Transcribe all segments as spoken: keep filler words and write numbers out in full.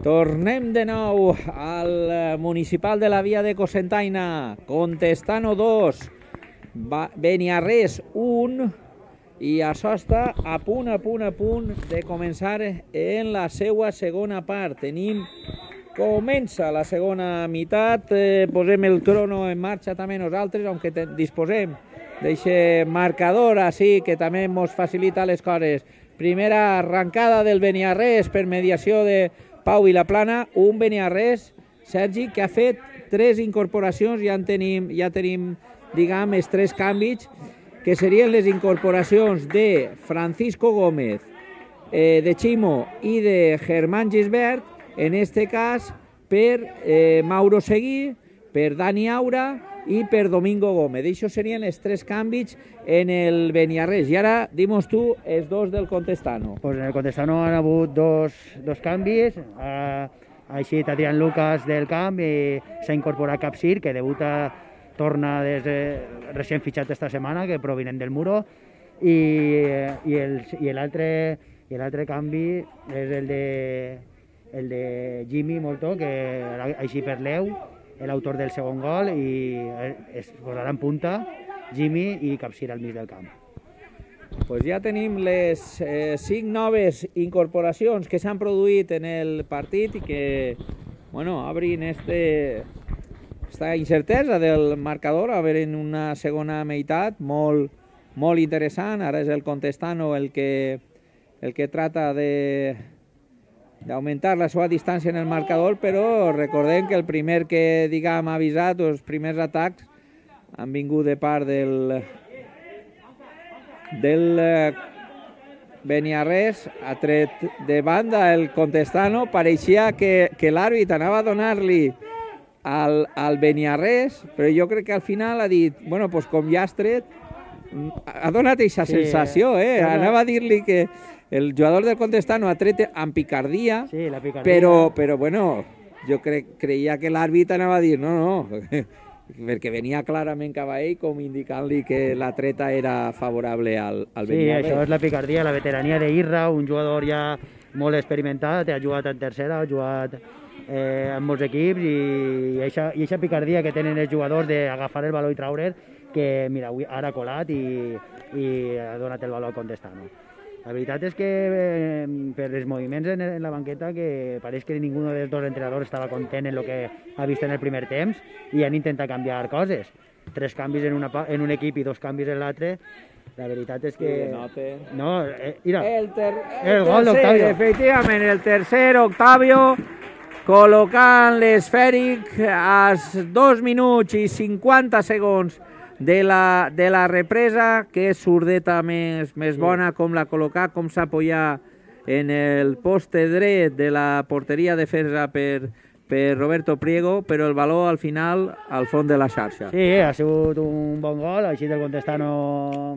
Tornem de nou al municipal de la Via de Cocentaina. Contestano dos, Beniarrés un, i això està a punt, a punt, a punt de començar en la seva segona part. Tenim, comença la segona meitat, eh, posem el crono en marxa també nosaltres, aunque disposem d'aquest marcador així que també ens facilita les coses. Primera arrancada del Beniarrés per mediació de Pau Vilaplana, un Beniarrés, Sergi, que ha fet tres incorporacions, ja en tenim, ja tenim, diguem, els tres canvis, que serien les incorporacions de Francisco Gómez, eh, de Chimo i de Germán Gisbert, en este cas per eh, Mauro Seguí, per Dani Aura i per Domingo Gómez. Això serien els tres canvis en el Beniarrés. I ara, dimos tu, els dos del Contestano. Pues en el Contestano han hagut dos, dos canvis. Ha, ha eixit Adrián Lucas del camp i s'ha incorporat Capsir, que debuta, torna des de, recent fitxat esta setmana, que provinent del Muro. I, i l'altre canvi és el de, el de Jimmy Moltó, que ha eixit per l'Eu, l'autor del segon gol, i es posarà en punta Jimmy i Capsir al mig del camp. Pues ja tenim les eh, cinc noves incorporacions que s'han produït en el partit i que, bueno, obrin este, esta incertesa del marcador, a veure en una segona meitat molt, molt interessant. Ara és el Contestano el que, el que trata de d'augmentar la seva distància en el marcador, però recordem que el primer que, diguem, ha avisat, els primers atacs han vingut de part del del Beniarrés, ha tret de banda el Contestano. Pareixia que, que l'àrbit anava a donar-li al, al Beniarrés, però jo crec que al final ha dit, bueno, pues com ja has tret, ha donat aquesta sí, sensació, eh? Anava a dir-li que el jugador del Contestano ha tret amb picardia, sí, la picardia. Però, però bueno, jo cre, creia que l'àrbit anava a dir no, no, perquè venia clarament cap a ell com indicant-li que la treta era favorable al, al Beniarrés. Sí, això és la picardia, la veterania d'Irra, un jugador ja molt experimentat, ha jugat en tercera, ha jugat eh, en molts equips, i aquesta picardia que tenen els jugadors d'agafar el valor i traure'l, que mira, avui ara ha colat i, i ha donat el valor al Contestano. La veritat és que eh, per els moviments en, en la banqueta, que pareix que ningú dels dos entrenadors estava content en el que ha vist en el primer temps i han intentat canviar coses. Tres canvis en, una, en un equip i dos canvis en l'altre. La veritat és que... No, eh, mira, el, ter, el, el gol d'Octavio. Efectivament, el tercer, Octavio, col·locant l'esfèric a dos minuts i cinquanta segons de la, de la represa. Que surdeta més, més bona, com la col·locar, com s'apoyar en el poste dret de la porteria defensa per, per Roberto Priego, però el valor al final al fons de la xarxa. Sí, ha sigut un bon gol, així del Contestano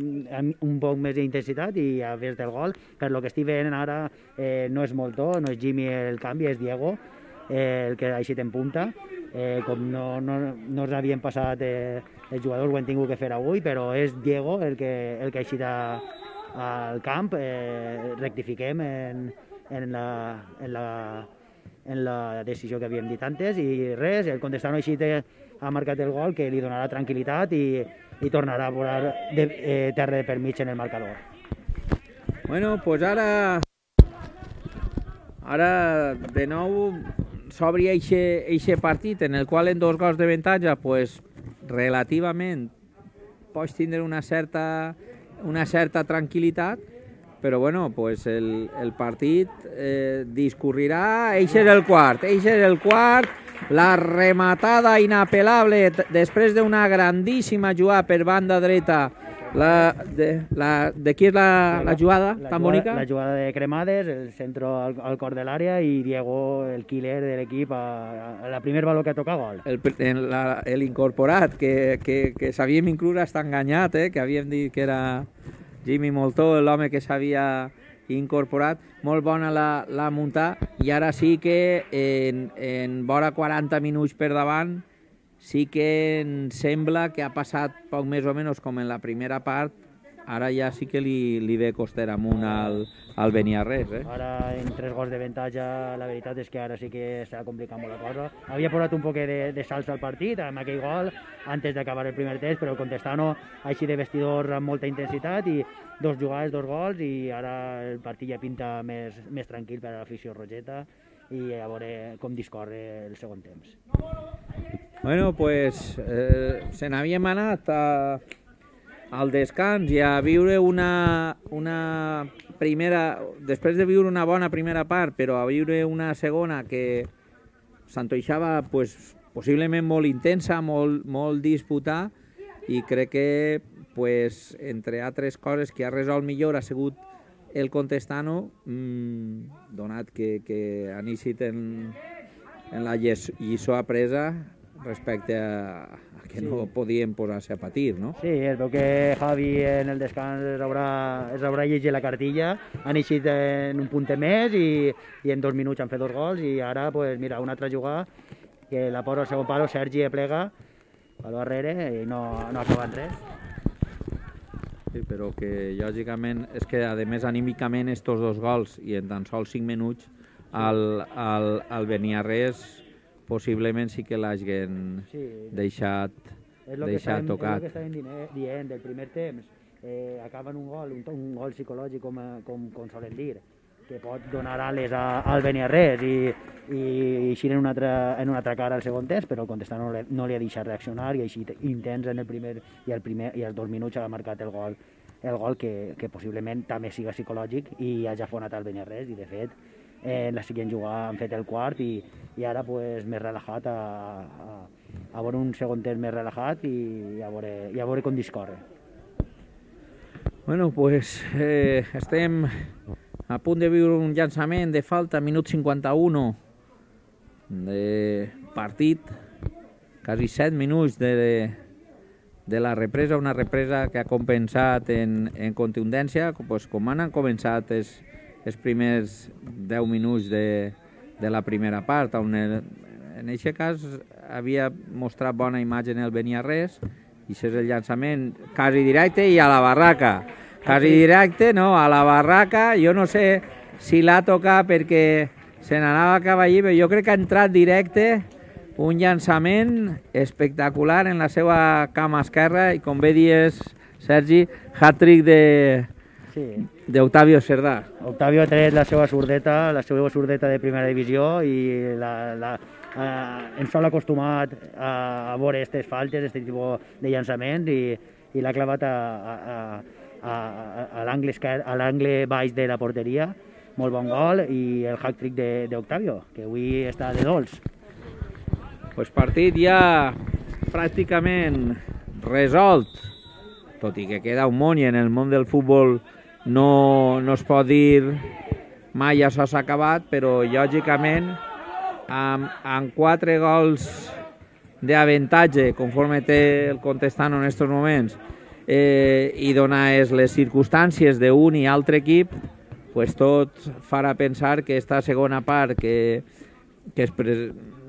amb un poc més d'intensitat i a vist del gol. Per lo que estic veient ara eh, no és Moltó, no és Jimmy el canvi, és Diego eh, el que ha eixit en punta. Eh, com no, no, no ens havien passat eh, els jugadors, ho hem tingut que fer avui, però és Diego el que, el que ha eixit a, al camp. Eh, rectifiquem en, en, la, en, la, en la decisió que havíem dit antes, i res, el Contestano ha eixit, ha marcat el gol que li donarà tranquil·litat i, i tornarà a posar de, eh, terra per mig en el marcador. Bueno, pues ara ara de nou s'obri aquest partit en el qual en dos gols de avantatge, pues, relativament pots tindre una certa, una certa tranquil·litat, però bueno, pues el, el partit eh, discorrirà. Eixe és el quart, eixe és el quart, la rematada inapel·lable després d'una grandíssima jugada per banda dreta. La, de, la, de qui és la, la jugada la, tan bonica? La jugada de Cremades, el centro al, al cor de l'àrea, i Diego, el killer de l'equip, a, a la primer valor que toca gol. L'incorporat, que, que, que s'havíem inclús estar enganyat, eh? Que havíem dit que era Jimmy Moltó, l'home que s'havia incorporat. Molt bona la, la muntar, i ara sí que en, en vora quaranta minuts per davant sí que em sembla que ha passat poc més o menys com en la primera part, ara ja sí que li, li ve coster amunt al, al Beniarrés. Eh? Ara, en tres gols de avantatge, la veritat és que ara sí que s'ha complicat molt la cosa. Havia posat un poc de, de salsa al partit, amb aquell gol, antes d'acabar el primer temps, però el Contestano, així de vestidor amb molta intensitat, i dos jugades, dos gols, i ara el partit ja pinta més, més tranquil per a l'afició rogeta, i a veure com discorre el segon temps. Bueno, pues eh, se n'havíem anat a, al descans i a viure una, una primera, després de viure una bona primera part, però a viure una segona que s'antoixava pues, possiblement molt intensa, molt, molt disputada, i crec que pues, entre altres coses que ha resolt millor ha sigut el Contestano, mmm, donat que, que han eixit en, en la lliçó apresa respecte a, a que sí. No podien posar-se a patir, no? Sí, es veu que Javi en el descans es haurà, es haurà llegit la cartilla, han eixit en un puntet més i, i en dos minuts han fet dos gols, i ara, pues, mira, una altra jugada que la posa al segon palo, Sergi plega al darrere i no, no acaba en res. Sí, però que lògicament és que a més anímicament estos dos gols i en tan sols cinc minuts al, al, al Beniarrés possiblement sí que l'hagin sí, deixat, deixat tocat. És el que estàvem dient del primer temps, eh, acaben un gol, un, un gol psicològic com, com, com solen dir, que pot donar ales a, al Beniarrés i, i eixir en una altra, en una altra cara al segon temps, però el Contestano no, no li ha deixat reaccionar i així intents en el primer i el primer i els dos minuts ha marcat el gol, el gol que, que possiblement també siga psicològic i hagi afonat al Beniarrés, i de fet en la següent jugada han fet el quart i, i ara pues, més relaxat a, a, a veure un segon temps més relaxat i a veure, i a veure com discorre. Bueno, pues eh, estem a punt de viure un llançament de falta, minut cinquanta-u de partit, quasi set minuts de, de, de la represa, una represa que ha compensat en, en contundència, pues, com han començat els, els primers deu minuts de, de la primera part, on el, en aquest cas havia mostrat bona imatge en el Beniarrés, i això és el llançament quasi directe i a la barraca. Quasi directe, no, a la barraca, jo no sé si l'ha tocat perquè se n'anava cap allí, però jo crec que ha entrat directe, un llançament espectacular en la seva cama esquerra, i com bé dies, Sergi, hat-trick de... Sí. d'Octavio Cerdà. Octavio ha tret la seva surdeta, la seva surdeta de primera divisió, i la, la, eh, ens sol acostumat a, a veure aquestes faltes, aquest tipus de llançament, i, i l'ha clavat a, a, a, a l'angle baix de la porteria. Molt bon gol, i el hat-trick d'Octavio, que avui està de dolç. Pues partit ja pràcticament resolt, tot i que queda un món, i en el món del futbol no, no es pot dir mai això s'ha acabat, però lògicament amb, amb quatre gols d'avantatge conforme té el Contestano en aquests moments, eh, i donades les circumstàncies d'un i altre equip, pues tot farà pensar que esta segona part que, que es, pre,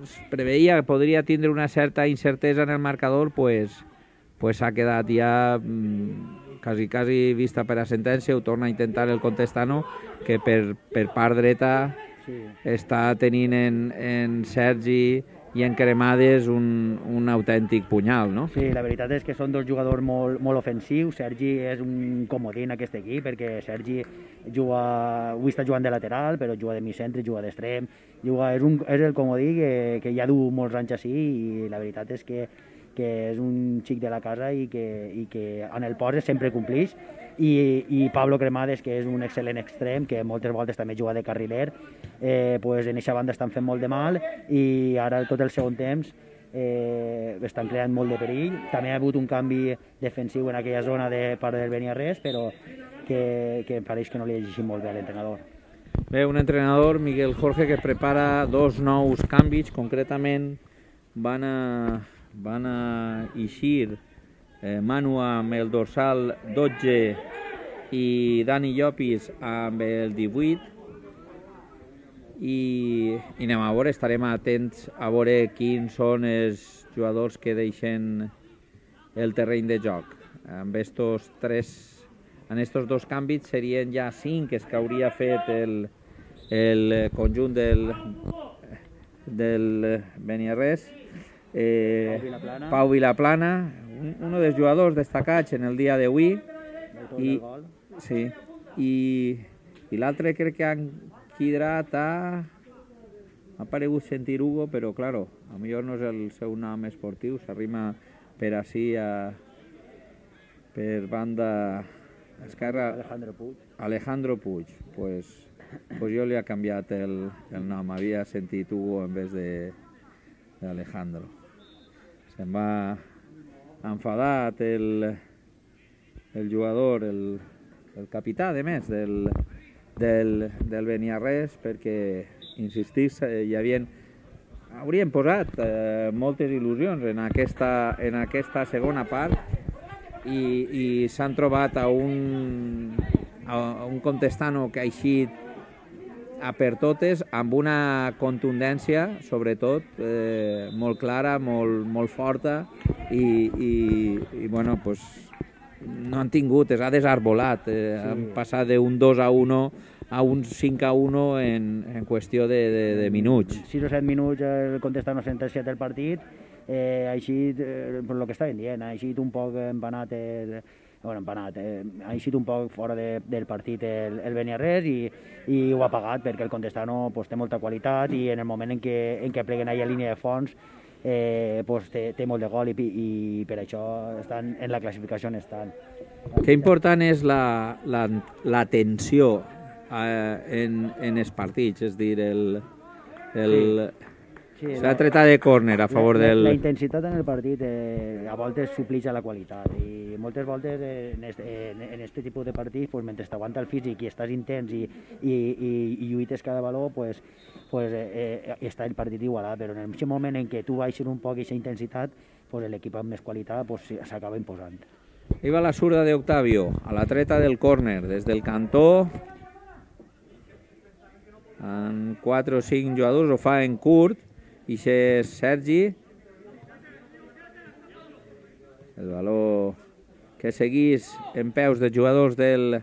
es preveia que podria tindre una certa incertesa en el marcador, pues pues ha quedat ja mmm, quasi, quasi vista per a sentència. Ho torna a intentar el Contestano, que per, per part dreta sí. Està tenint en, en Sergi i en Cremades un, un autèntic punyal, no? Sí, la veritat és que són dos jugadors molt, molt ofensius. Sergi és un comodí en aquest equip, perquè Sergi juga, avui està jugant de lateral, però juga de mig-centre, juga d'extrem, juga, és, un, és el comodí que, que ja du molts anys així, i la veritat és que que és un xic de la casa i que, i que en el post sempre complix, i, i Pablo Cremades, que és un excel·lent extrem, que moltes voltes també juga de carriler, eh, pues en aquesta banda estan fent molt de mal, i ara tot el segon temps eh, estan creant molt de perill. També ha hagut un canvi defensiu en aquella zona de part del Beniarrés, però que, que em pareix que no li ha llegit molt bé a l'entrenador. Bé, un entrenador, Miguel Jorge, que prepara dos nous canvis, concretament van a van a eixir eh, Manu amb el dorsal dotze i Dani Llopis amb el divuit, i, i anem a veure, estarem atents a veure quins són els jugadors que deixen el terreny de joc. Amb estos tres en estos dos canvis serien ja cinc que hauria fet el, el conjunt del, del Beniarrés. Eh, Pau Vilaplana. Pau Vilaplana, un, uno dels jugadors destacats en el dia d'avui. I, sí, i, i l'altre crec que han quidrat a... M'ha paregut sentir Hugo, però, claro, a millor no és el seu nom esportiu, s'arrima per ací a... per banda esquerra... Alejandro Puig. Alejandro Puig. Pues, pues jo li ha canviat el, el nom, havia sentit Hugo en vez de d'Alejandro. Se'n va enfadat el, el jugador, el, el capità, de més, del, del, del Beniarrés, perquè, insistís, hi havien, haurien posat eh, moltes il·lusions en aquesta, en aquesta segona part i, i s'han trobat a un, a un Contestano que ha eixit a per totes amb una contundència, sobretot, eh, molt clara, molt, molt forta i, i, i bueno, pues, no han tingut, es ha desarbolat, eh, sí. Han passat d'un dos a un a un cinc a un en, en qüestió de, de, de minuts. sis o set minuts el Contestano sentenciat el partit, eh, ha eixit, eh, per el que estaven dient, ha eixit un poc empanat el, bueno, empanat, eh, ha eixit un poc fora de, del partit el, el Beniarrés i, i ho ha pagat perquè el Contestano pues, té molta qualitat i en el moment en què, en què pleguen ahí a línia de fons eh, pues, té, té molt de gol i, i per això estan en la classificació on estan. Que important és la, la, la tensió eh, en, en els partits, és dir, el... el... Sí. Sí, s'ha tretat de córner a favor la, del... La intensitat en el partit eh, a voltes suplix a la qualitat i moltes voltes eh, en, este, en, en este tipus de partits, pues, mentre t'aguanta el físic i estàs intens i, i, i, i lluites cada valor, pues, pues, eh, eh, està el partit igualat, però en el moment en què tu baixes un poc aquesta intensitat, pues, l'equip amb més qualitat pues, s'acaba imposant. Ahí va la zurda de Octavio, a la treta del córner, des del cantó. En quatre o cinc jugadors ho fa en curt, i és Sergi. El valor que seguís en peus dels jugadors del,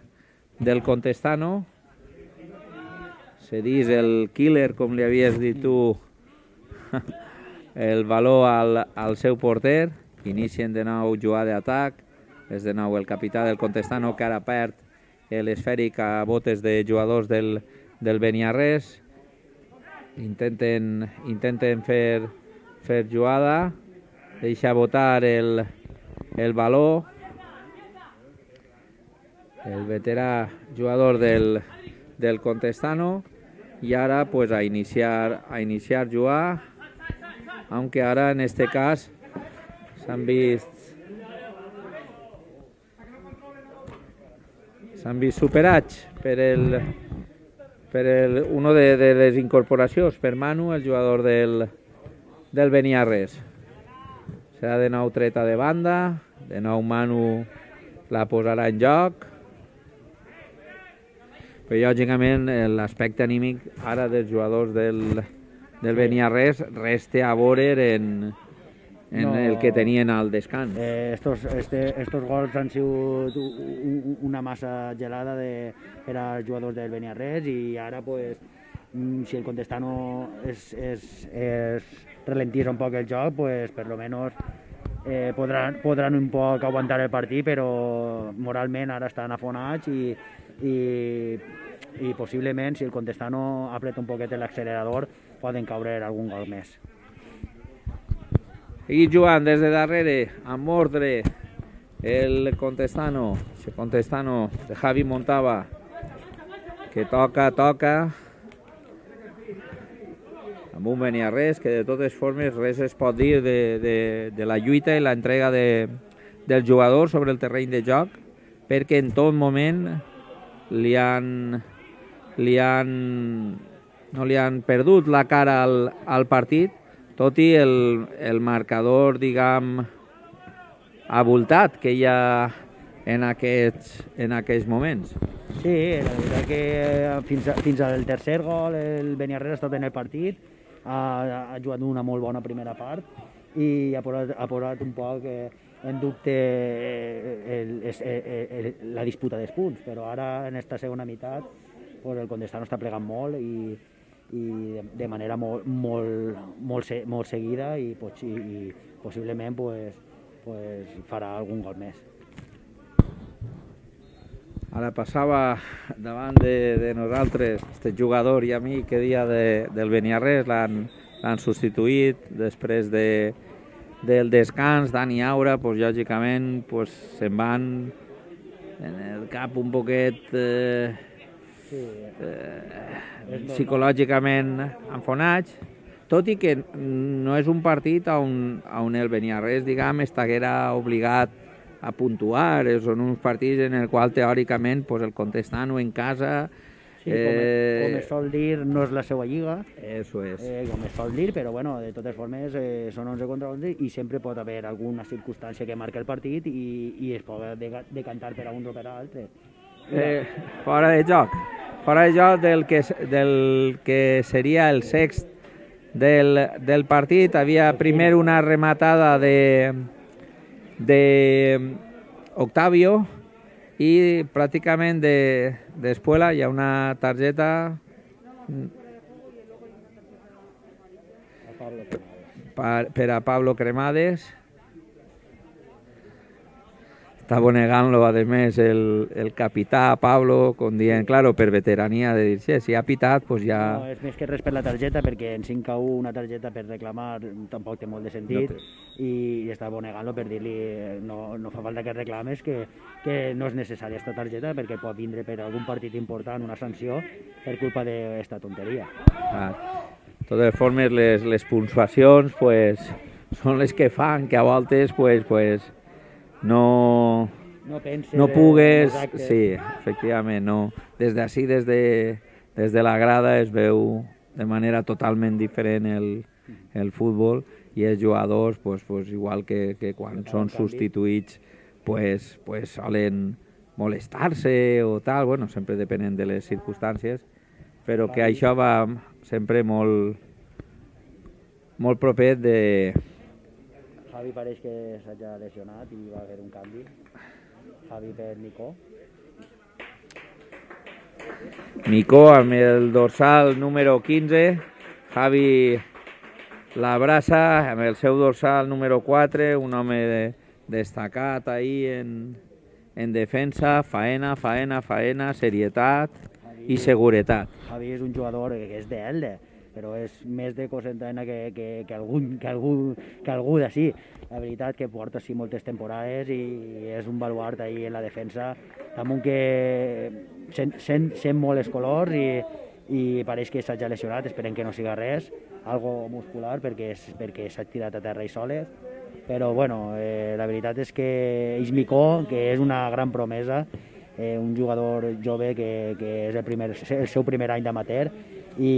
del Contestano. Cedís el killer, com li havies dit tu, el valor al, al seu porter. Inicien de nou jugada d'atac. És de nou el capità del Contestano que ara perd l'esfèric a botes de jugadors del, del Beniarrés. Intenten, intenten fer, fer jugada, deixa botar el, el valor. El veterà jugador del, del Contestano i ara pues, a iniciar a iniciar jugar, aunque ara en este cas s'han vist s'han vist superats per el per el, uno de, de les incorporacions, per Manu, el jugador del, del Beniarrés. Serà de nou treta de banda, de nou Manu la posarà en joc, però lògicament l'aspecte anímic ara dels jugadors del, del Beniarrés resta a veure en, en no, el que tenien al descans. Eh, estos, este, estos gols han sigut una massa gelada de, per als jugadors del Beniarrés i ara, pues, si el Contestano es, es, es ralentís un poc el joc, pues, per lo menos eh, podran, podran un poc aguantar el partit, però moralment ara estan afonats i, i, i possiblement, si el Contestano apreta un poquet l'accelerador, poden caure algun gol més. Seguir jugant des de darrere, amb ordre, el Contestano, el Contestano de Javi Montava, que toca, toca, amb un Beniarrés que de totes formes res es pot dir de, de, de la lluita i l'entrega de, del jugador sobre el terreny de joc, perquè en tot moment li han, li han, no li han perdut la cara al, al partit, tot i el, el marcador, diguem, abultat que hi ha en aquests, en aquests moments. Sí, la veritat que fins, a, fins al tercer gol el Beniarrés ha estat en el partit, ha, ha jugat una molt bona primera part i ha posat, ha posat un poc eh, en dubte el, el, el, el, la disputa dels punts, però ara en esta segona meitat pues, el Condestano està plegant molt i, i de, de manera molt, molt, molt, se, molt seguida i, i, i possiblement pues, pues, farà algun gol més. Ara passava davant de, de nosaltres este jugador i amic que dia de, del Beniarrés, l'han substituït després de, del descans. Dani Aura, pues, lògicament pues, se'n van en el cap un poquet eh, sí, eh, psicològicament enfonats, tot i que no és un partit on, on el Beniarrés, diguem, estaguera obligat a puntuar, són uns partits en el qual teòricament pues, el Contestano en casa... Sí, com, eh, com es sol dir, no és la seva lliga, eso és. Eh, com es sol dir, però bueno, de totes formes eh, són onze contra onze i sempre pot haver alguna circumstància que marca el partit i, i es pot decantar per a un o per a l'altre. Eh, fora de joc, fora de joc del que, del que seria el sext del, del partit, havia primer una rematada de... de Octavio i pràcticament de d'Espuela hi ha una targeta per, per a Pablo Cremades. Estava negant-lo, a més, el, el capità Pablo, com dient, claro, per veterania, de dir, sí, si ha pitat, pues ja... No, és més que res per la targeta, perquè en cinc a u una targeta per reclamar tampoc té molt de sentit, no, i, i estava negant-lo per dir-li no, no fa falta que reclames, que, que no és necessària aquesta targeta, perquè pot vindre per algun partit important una sanció per culpa d'esta tonteria. Ah, de totes formes, les, les puntuacions pues, són les que fan que a voltes pues, pues, no, no, no pugues, sí, efectivament, no. Des d'ací, des, de, des de la grada, es veu de manera totalment diferent el, el futbol i els jugadors, pues, pues, igual que, que quan són substituïts, pues, pues, solen molestar-se o tal, bueno, sempre depenent de les circumstàncies, però que això va sempre molt, molt proper de... Javi pareix que s'ha lesionat i va haver un canvi. Javi per Nico. Nico amb el dorsal número quinze. Javi l'abraça amb el seu dorsal número quatre, un home de, destacat ahí en, en defensa, faena, faena, faena, serietat Javi, i seguretat. Javi és un jugador que és d'Elde, però és més de Cosentana que, que, que algú, que algú, que algú d'ací. La veritat que porta sí moltes temporades i és un baluart ahí en la defensa, damunt que sent, sent, sent molt els colors i, i pareix que s'ha ja lesionat, esperem que no siga res, algo muscular perquè, perquè s'ha tirat a terra i soles, però bueno, eh, la veritat és que Ismicó, que és una gran promesa, eh, un jugador jove que, que és el, primer, el seu primer any d'amateur, i,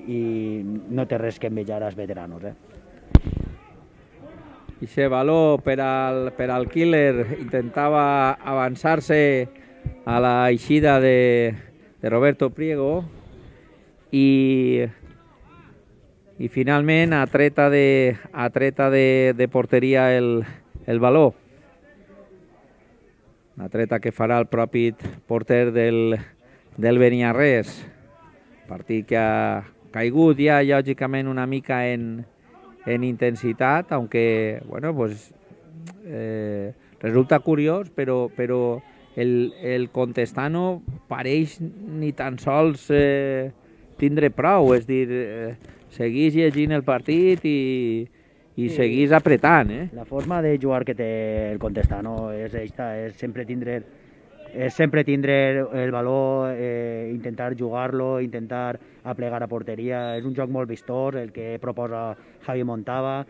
i no té res que envejar als veteranos. Eh? I aquest valor per al, per al Killer intentava avançar-se a la eixida de, de Roberto Priego i, i finalment atreta de, atreta de, de porteria el, el valor. Una treta que farà el propi porter del, del Beniarrés. Partit que ha caigut ja, lògicament, una mica en, en intensitat, aunque, bueno, pues, eh, resulta curiós, però, però el, el Contestano pareix ni tan sols eh, tindre prou, és dir, eh, seguís llegint el partit i, i sí, seguís apretant. Eh? La forma de jugar que té el Contestano és, esta, és sempre tindre és sempre tindre el valor, eh, intentar jugar-lo, intentar aplegar a porteria. És un joc molt vistós el que proposa Javi Montava,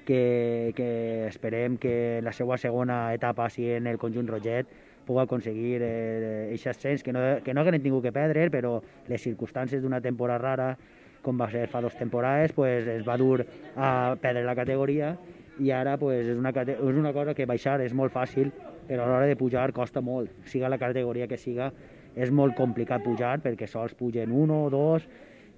que, que esperem que la seva segona etapa, si en el conjunt roget, pugui aconseguir aquest eh, ascens, que no, que no haguem tingut que perdre, però les circumstàncies d'una temporada rara, com va ser fa dues temporades, pues, es va dur a perdre la categoria i ara pues, és, una, és una cosa que baixar és molt fàcil, però a l'hora de pujar costa molt. Siga la categoria que siga, és molt complicat pujar perquè sols pugen un o dos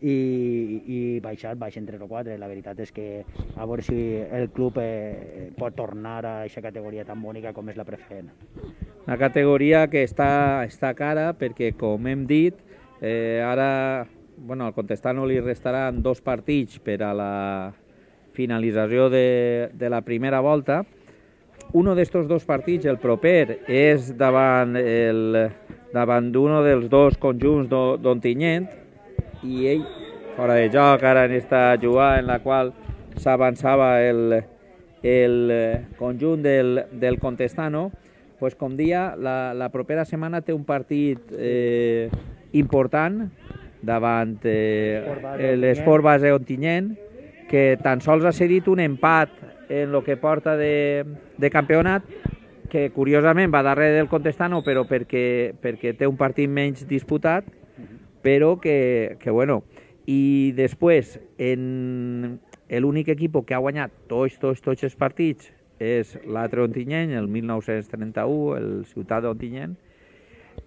i, i baixar, baixen tres o quatre. La veritat és que a veure si el club eh, pot tornar a aquesta categoria tan bonica com és la preferent. Una categoria que està, està cara perquè, com hem dit, eh, ara bueno, al Contestano li restaran dos partits per a la finalització de, de la primera volta. Un d'estos dos partits, el proper, és davant el davant d'un dels dos conjunts d'Ontinyent, i ell, fora de joc, ara en esta jugada en la qual s'avançava el, el conjunt del, del Contestano, pues, com dia, la, la propera setmana té un partit eh, important davant eh, l'Esport Base Ontinyent, que tan sols ha cedit un empat en el que porta de, de campionat, que curiosament va darrere del Contestano, però perquè, perquè té un partit menys disputat, però que, que bueno. I després, en l'únic equip que ha guanyat tots, tots, tots els partits és l'altre Ontinyent, el mil nou-cents trenta-u, el Ciutat d'Ontinyent,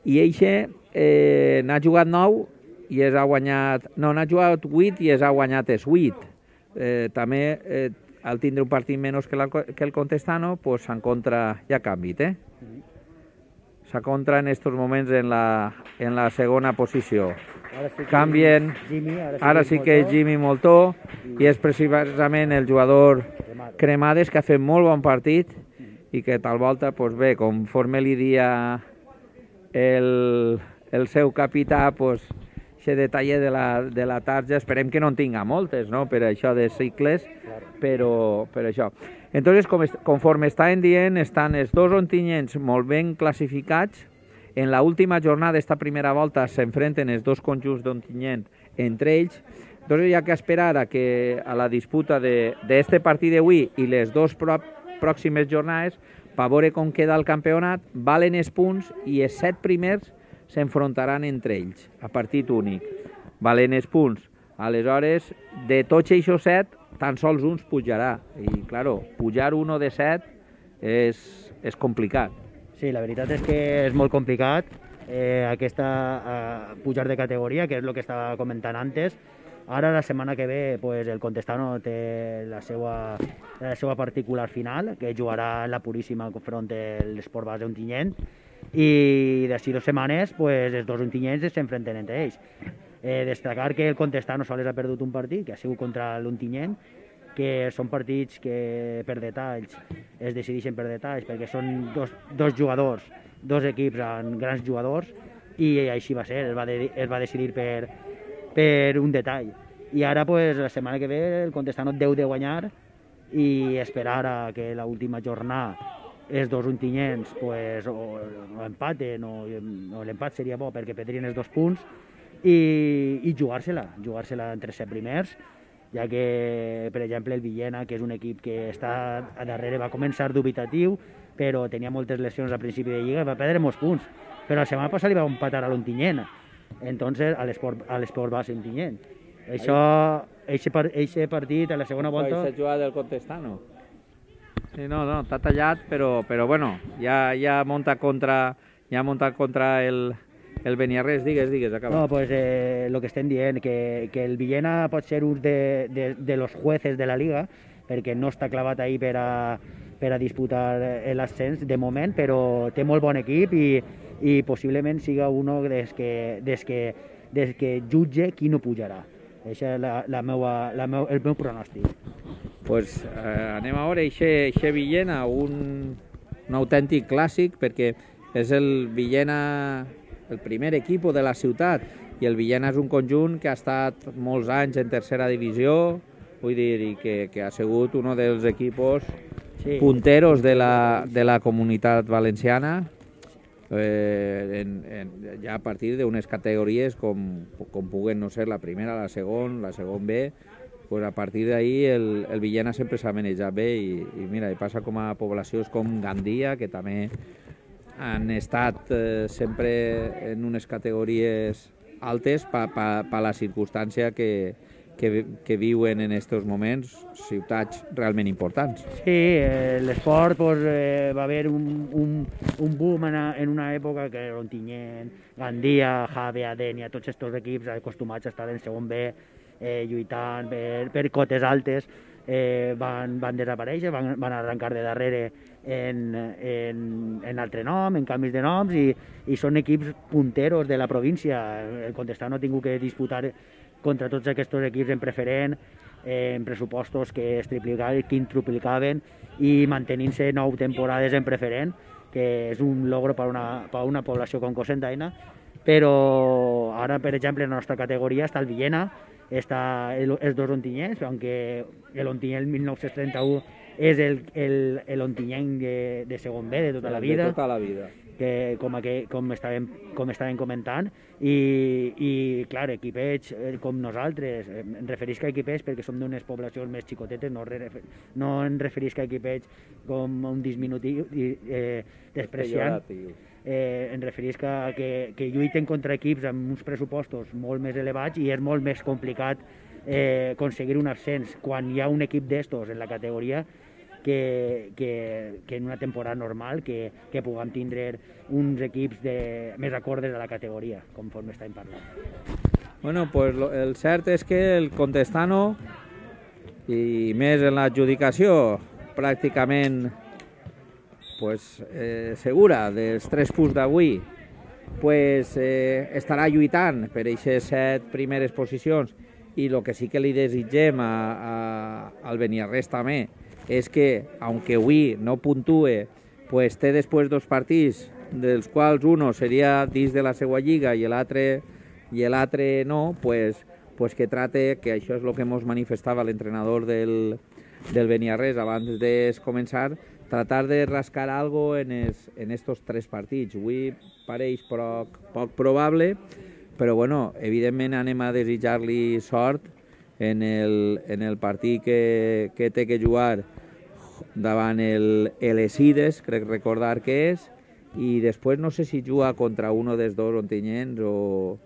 i eixe eh, n'ha jugat nou i es ha guanyat... No, n'ha jugat vuit i es ha guanyat els vuit. Eh, també, eh, al tindre un partit menys que, la, que el Contestano, pues s'encontra, ja ha canviat, eh? S'encontra en aquests moments en la, en la segona posició. Sí Canvien, Jimmy, ara, sí ara sí que és Jimmy Moltó, i és precisament el jugador Cremades, que ha fet molt bon partit i que tal volta, pues bé, conforme li dia el, el seu capità, pues, aquest detall de la, de la tarja, esperem que no en tinga moltes, no?, per això de cicles, però per això. Entonces, com, conforme estaven dient, estan els dos ontinyents molt ben classificats. En la última jornada d'esta primera volta s'enfrenten els dos conjunts d'Ontinyent entre ells. Entonces, hi ha que esperar a, que, a la disputa d'este partit d'avui i les dues pròximes jornades per veure com queda el campionat. Valen els punts i els set primers s'enfrontaran entre ells, a partit únic. Valen els punts. Aleshores, de tots aquests set, tan sols uns pujarà. I, claro, pujar un de set és, és complicat. Sí, la veritat és que és molt complicat eh, aquesta eh, pujar de categoria, que és el que estava comentant antes. Ara, la setmana que ve, pues, el Contestano té la seva, la seva particular final, que jugarà en la Puríssima front a l'Esport Base Ontinyent, i d'ací dues setmanes pues, els dos ontinyents s'enfronten entre ells. Eh, destacar que el Contestano sols ha perdut un partit, que ha sigut contra l'Ontinyent, que són partits que per detalls es decideixen per detalls, perquè són dos, dos jugadors, dos equips amb grans jugadors, i així va ser, es va, de, es va decidir per, per un detall. I ara, pues, la setmana que ve, el Contestano deu de guanyar i esperar a que l'última jornada els dos ontinyents pues, o, o empaten, o, o l'empat seria bo perquè perdrien els dos punts, i, i jugar-se-la, jugar-se-la entre set primers, ja que, per exemple, el Villena, que és un equip que està a darrere, va començar dubitatiu, però tenia moltes lesions al principi de Lliga, va perdre molts punts, però la setmana passada li va empatar a l'Ontinyent, entonces a l'Esport Base Ontinyent. Això, eixe partit a la segona volta... Aquesta jugada del Contestano. Sí, no, no, està tallat, però, però bueno, ja, ja munta contra, ja munta contra el, el Beniarrés. Digues, digues, acaba. No, pues eh, lo que estem dient, que, que el Villena pot ser un de, de, de los jueces de la Liga, perquè no està clavat ahí per a, per a disputar l'ascens de moment, però té molt bon equip i, i possiblement siga uno des que, des que, des que jutge qui no pujarà. Això és la, la meua, la meu, el meu pronòstic. Pues eh, anem a veure aquest Villena, un, un autèntic clàssic, perquè és el Villena, el primer equip de la ciutat, i el Villena és un conjunt que ha estat molts anys en tercera divisió, vull dir, i que, que ha sigut un dels equipos sí. punteros de la, de la comunitat valenciana, eh, en, en, ja a partir d'unes categories com, com puguen no ser la primera, la segona, la segon B. Pues a partir d'ahí el, el Villena sempre s'ha manejat bé i, i mira, i passa com a poblacions com Gandia, que també han estat eh, sempre en unes categories altes per pa, pa la circumstància que, que, que viuen en aquests moments ciutats realment importants. Sí, eh, l'esport pues, eh, va haver un, un, un boom en, en una època que Ontinyent, Gandia, Jave, Adenia, tots aquests equips acostumats a estar en segon B, eh, lluitant per, per cotes altes, eh, van, van desaparèixer, van, van arrencar de darrere en, en, en altre nom, en canvis de noms, i, i són equips punteros de la província. El Contestano ha tingut que disputar contra tots aquests equips en preferent, eh, en pressupostos que es triplicaven, quintruplicaven, i mantenint-se nou temporades en preferent, que és un logro per una, per una població com Cocentaina. Però ara, per exemple, en la nostra categoria està el Villena, està el, els dos ontinyents, aunque l'Ontinyent mil nou-cents trenta-u és el, el, el Ontinyent de, de segon B de tota la vida. De tota la vida. Que, com, aquell, com, estàvem, com estàvem comentant, i, i clar, equipets com nosaltres, em referisc a equipets perquè som d'unes poblacions més xicotetes, no, no em referisc a equipets com un disminutiu eh, despreciant, eh, em referisc a que, que lluiten contra equips amb uns pressupostos molt més elevats i és molt més complicat eh, aconseguir un ascens quan hi ha un equip d'estos en la categoria Que, que, que en una temporada normal, que, que puguem tindre uns equips de, més acordes a la categoria, conforme estàvem parlant. Bueno, pues lo, el cert és que el Contestano, i més en l'adjudicació pràcticament pues, eh, segura dels tres punts d'avui, pues, eh, estarà lluitant per aquestes set primeres posicions, i el que sí que li desitgem a, a, al Beniarrés també és que, aunque avui no puntue, pues té després dos partits, dels quals uno seria dins de la seva lliga i l'altre i l'altre no, pues, pues que trate, que això és el que ens manifestava l'entrenador del, del Beniarrés abans de començar, tratar de rascar algo en, es, en estos tres partits. Avui pareix poc, poc probable, però bueno, evidentment anem a desitjar-li sort en el, en el partit que, que té que jugar davant el Elesides, crec recordar que és, i després no sé si juga contra uno dels dos ontinyents o,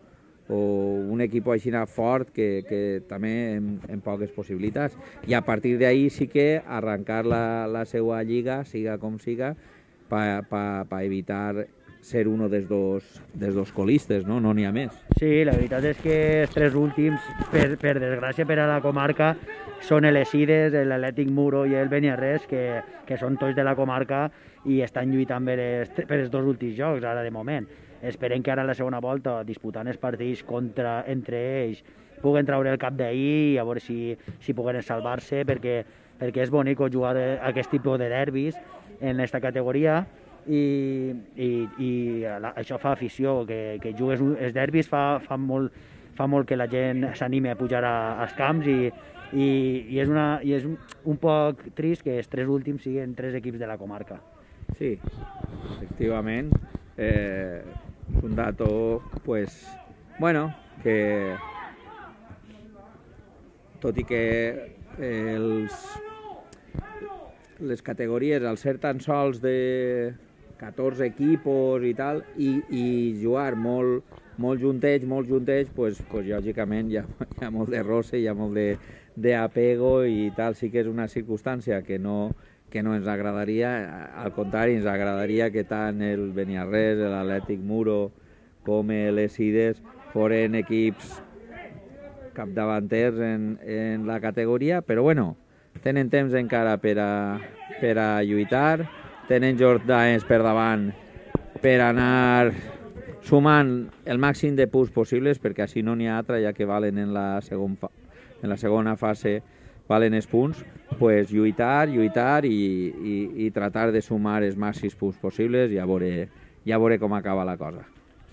o un equip així fort que, que també en, en poques possibilitats. I a partir d'ahí sí que arrencar la, la seva lliga, siga com siga, per pa, pa evitar ser uno dels dos, dels dos colistes, no? No n'hi ha més. Sí, la veritat és que els tres últims, per, per desgràcia per a la comarca, són l'Esides, l'Atlètic Muro i el Beniarrés, que, que són tots de la comarca i estan lluitant per els, per els dos últims jocs, ara de moment. Esperem que ara en la segona volta, disputant els partits contra, entre ells, puguen treure el cap d'ahir i a veure si, si puguen salvar-se, perquè, perquè és bonic jugar aquest tipus de derbis en aquesta categoria, i, i, i això fa afició, que, que jugues els derbis fa, fa, molt, fa molt que la gent s'anime a pujar a, als camps, i, i, i és, una, i és un, un poc trist que els tres últims siguin tres equips de la comarca. Sí, efectivament. Eh, és un dato, pues, bueno, que tot i que els, les categories, al ser tan sols de catorze equipos i tal, i, i jugar molt, molt juntets, molt juntets, pues, pues, lògicament hi ha, hi ha molt de roce, hi ha molt de, de apego i tal. Sí que és una circumstància que no, que no ens agradaria, al contrari, ens agradaria que tant el Beniarrés, l'Atlètic Muro com l'Esides foren equips capdavanters en, en la categoria, però bueno, tenen temps encara per a, per a lluitar, tenen jornades per davant per anar sumant el màxim de punts possibles, perquè així no n'hi ha altra, ja que valen en la, segon fa, en la segona fase valen els punts, pues lluitar, lluitar i, i, i tratar de sumar els màxims punts possibles i a veure, i a veure com acaba la cosa.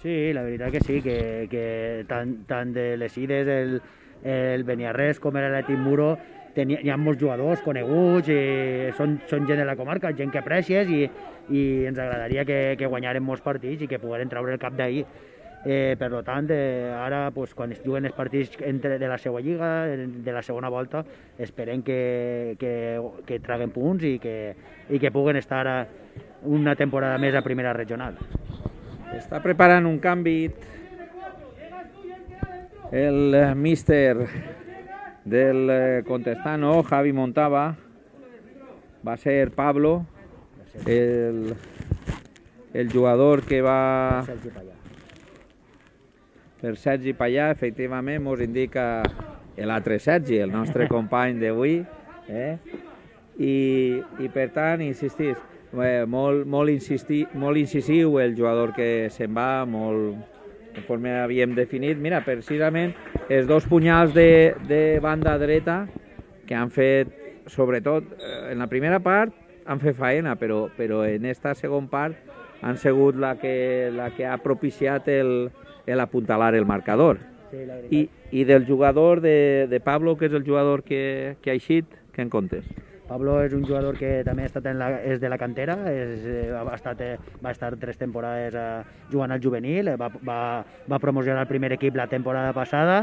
Sí, la veritat que sí, que, que tant, tant de les Ides, el, el Beniarrés com l'Atlètic Muro, tenia, hi ha molts jugadors coneguts, i són, són gent de la comarca, gent que aprecies, i, i ens agradaria que, que guanyaren molts partits i que pogueren treure el cap d'ahir. Eh, per tant, eh, ara, pues, quan es juguen els partits entre, de la seva lliga, de la segona volta, esperem que, que, que traguen punts i que, i que puguen estar a una temporada més a primera regional. Està preparant un canvi el míster del eh, Contestano, Javi Montava, va ser Pablo, el, el jugador que va... Sergi Pallà. Per Sergi Pallà, efectivament, ens indica l'altre Sergi, el nostre company d'avui, eh? I, i per tant, insistís, eh, molt, molt, insistir, molt incisiu el jugador que se'n va, molt, conforme havíem definit. Mira, precisament, els dos punyals de, de banda dreta que han fet, sobretot, en la primera part han fet faena, però, però en esta segona part han sigut la que, la que ha propiciat el, el apuntalar el marcador. Sí, la veritat. I, I del jugador de, de Pablo, que és el jugador que, que ha eixit, què en comptes? Pablo és un jugador que també ha estat en la, és de la cantera, és, eh, ha estat, eh, va estar tres temporades eh, jugant al juvenil, eh, va, va, va promocionar el primer equip la temporada passada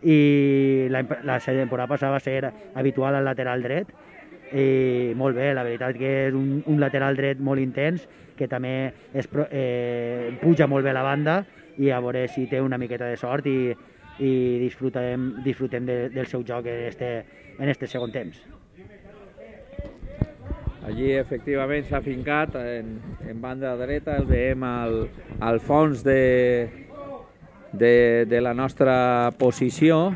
i la, la temporada passada va ser habitual al lateral dret i molt bé, la veritat que és un, un lateral dret molt intens que també es, eh, puja molt bé la banda i a veure si té una miqueta de sort i, i disfrutem, disfrutem de, del seu joc en este, en este segon temps. Allí efectivament s'ha fincat en, en banda dreta, el veiem al, al fons de, de, de la nostra posició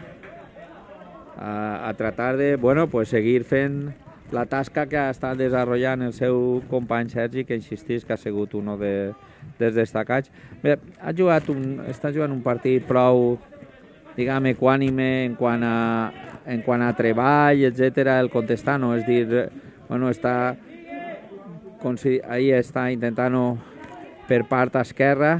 a, a tratar de bueno, pues seguir fent la tasca que ha estat desenvolupant el seu company Sergi, que insistís que ha sigut un de, dels destacats. Bé, ha jugat un, està jugant un partit prou, diguem, equànime en quant a, en quant a treball, etcètera, el Contestano, és dir, bueno, està, ahí està intentant per part esquerra,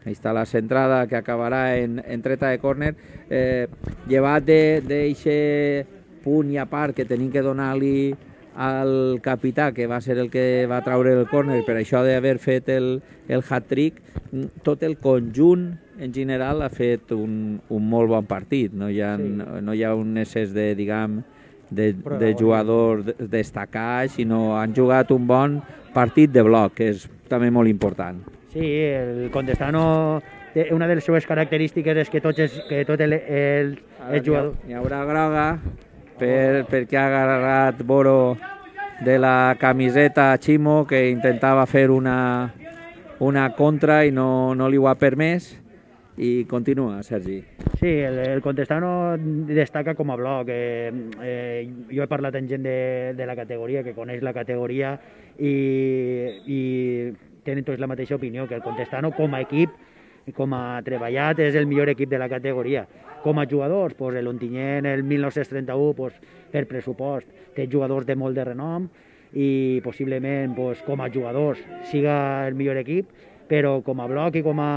ahí està la centrada que acabarà en, en treta de córner, eh, llevat d'aquest punt i a part que tenim que donar-li al capità, que va ser el que va traure el córner, per això d'haver fet el, el hat-trick, tot el conjunt en general ha fet un, un molt bon partit, no hi ha, sí. no, no hi ha un excés de, diguem, de, de jugador destacat, sinó han jugat un bon partit de bloc, que és també molt important. Sí, el Contestano, una de les seves característiques és que tots els, que tot el, el, el jugador... Hi haurà groga per, perquè ha agarrat Boro de la camiseta a Chimo, que intentava fer una, una contra i no, no li ho ha permès. I continua, Sergi. Sí, el, el Contestano destaca com a bloc. Eh, eh, jo he parlat amb gent de, de la categoria, que coneix la categoria, i, i tenen tots la mateixa opinió, que el Contestano com a equip, com a treballat, és el millor equip de la categoria. Com a jugadors, pues, l'Ontinyent, el mil nou-cents trenta-u, pues, per pressupost, té jugadors de molt de renom i possiblement pues, com a jugadors siga el millor equip, però com a bloc i com a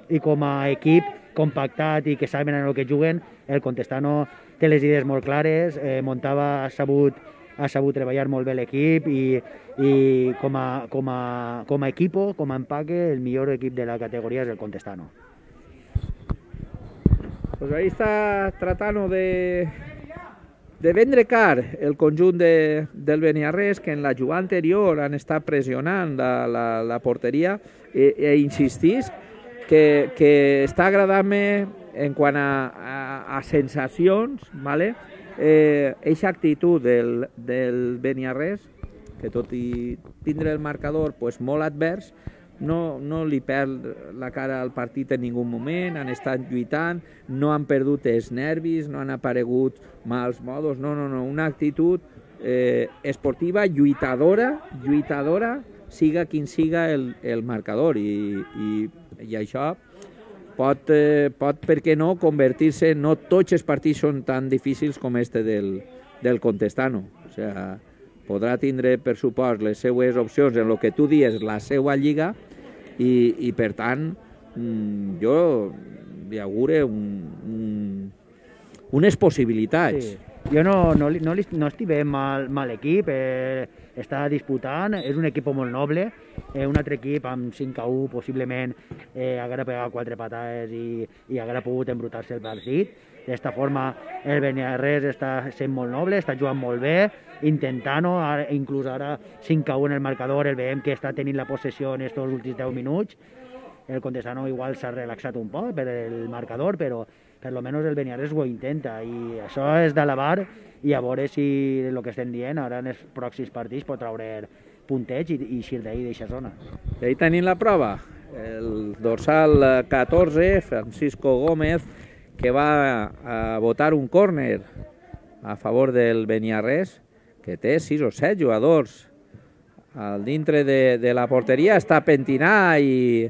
i com a equip compactat i que saben en el que juguen, el Contestano té les idees molt clares, eh, Montava ha sabut, ha sabut treballar molt bé l'equip i, i com, a, com, a, com a equipo, com a empaque, el millor equip de la categoria és el Contestano. Pues ahí està tratant de, de vendre car el conjunt de, del Beniarrés, que en la jugada anterior han estat pressionant la, la, la porteria e, e insistís que, que està agradant-me en quant a, a, a sensacions, ¿vale? eh, eixa actitud del, del Beniarrés, que tot i tindre el marcador pues, molt advers, no, no li perd la cara al partit en ningú moment, han estat lluitant, no han perdut els nervis, no han aparegut mals modos, no, no, no, una actitud eh, esportiva, lluitadora, lluitadora, siga quin siga el, el marcador, i, i, i això pot, eh, pot, per què no, convertir-se, no tots els partits són tan difícils com este del, del Contestano, o sigui, podrà tindre, per supost, les seues opcions en el que tu dies, la seva lliga, i, i per tant, jo li augure un, un, unes possibilitats. Sí. Jo no, no, no, no estic veient mal, mal equip, eh, està disputant, és un equip molt noble, eh, un altre equip amb cinc a u possiblement eh, haguera pegat quatre patades i, i haguera pogut embrutar-se el partit. D'esta forma el Beniarrés està sent molt noble, està jugant molt bé, intentant-ho, inclús ara cinc a u en el marcador, el veiem que està tenint la possessió en aquests últims deu minuts. El Contestano igual s'ha relaxat un poc per el marcador, però per lo menos el Beniarrés ho intenta, i això és d'alabar, i a veure si el que estem dient ara en els pròxims partits pot treure punteig i, i eixir d'ahir d'aquesta zona. I ahí tenim la prova, el dorsal catorze, Francisco Gómez, que va a votar un córner a favor del Beniarrés, que té sis o set jugadors al dintre de, de la porteria, està pentinat i,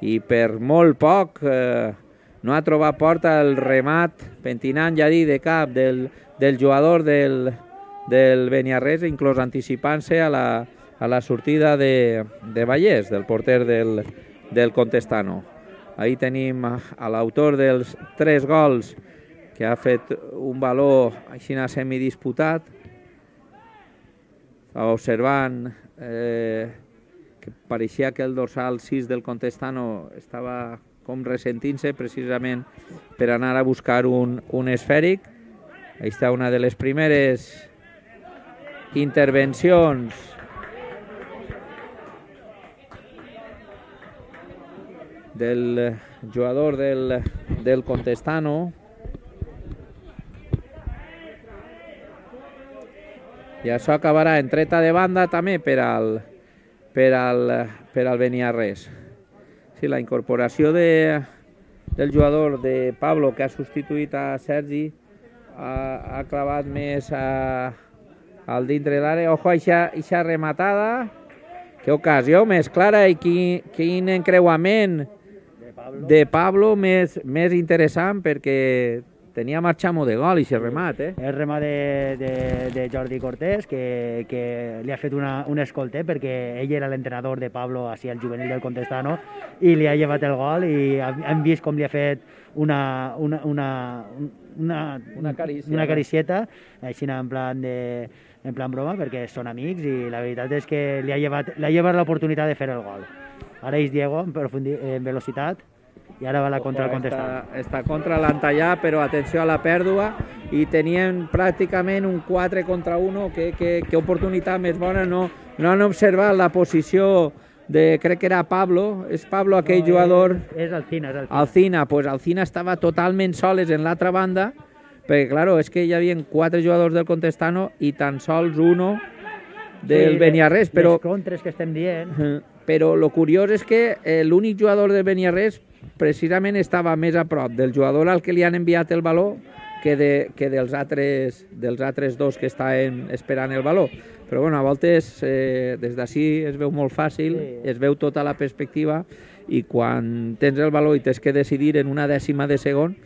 i per molt poc eh, no ha trobat porta el remat pentinant, ja dit, de cap del, del jugador del, del Beniarrés, inclús anticipant-se a, la, a la sortida de, de Vallès, del porter del, del Contestano. Ahí tenim a l'autor dels tres gols, que ha fet un valor així semidisputat, observant eh, que pareixia que el dorsal sis del Contestano estava com ressentint-se precisament per anar a buscar un, un esfèric. Ahí està una de les primeres intervencions del jugador del, del Contestano. I això acabarà en treta de banda també per al, per al, per al Beniarrés. Sí, la incorporació de, del jugador de Pablo, que ha substituït a Sergi, ha, ha clavat més a, al dintre de l'àrea. Ojo, eixa rematada. Que ocasió més clara i quin, quin encreuament de Pablo, de Pablo més, més interessant, perquè tenia marxamo de gol i se remat, eh? El remat de, de, de Jordi Cortés, que, que li ha fet una, un escolter, perquè ell era l'entrenador de Pablo així al juvenil del Contestano, i li ha llevat el gol, i hem vist com li ha fet una, una, una, una, una, carícia, una caricieta, així en plan, de, en plan broma, perquè són amics, i la veritat és que li ha llevat, li ha llevat l'oportunitat de fer el gol. Ara és Diego en, en velocitat, i ara va la contra el Contestano. Està, està contra l'Antallà, però atenció a la pèrdua, i tenien pràcticament un quatre contra uno, que, que, que oportunitat més bona. No, no han observat la posició de, crec que era Pablo, és Pablo aquell no, jugador... És, és Alcina, és Alcina. Alcina, pues Alcina estava totalment soles en l'altra banda, perquè, claro, és que hi havia quatre jugadors del Contestano i tan sols uno del sí, Beniarrés, però... Les contres que estem dient... Però el curiós és que eh, l'únic jugador del Beniarrés precisament estava més a prop del jugador al que li han enviat el valor que, de, que dels, altres, dels altres dos que estaven esperant el valor. Però bueno, a voltes eh, des d'ací es veu molt fàcil, sí. Es veu tota la perspectiva, i quan tens el valor i tens que decidir en una dècima de segon,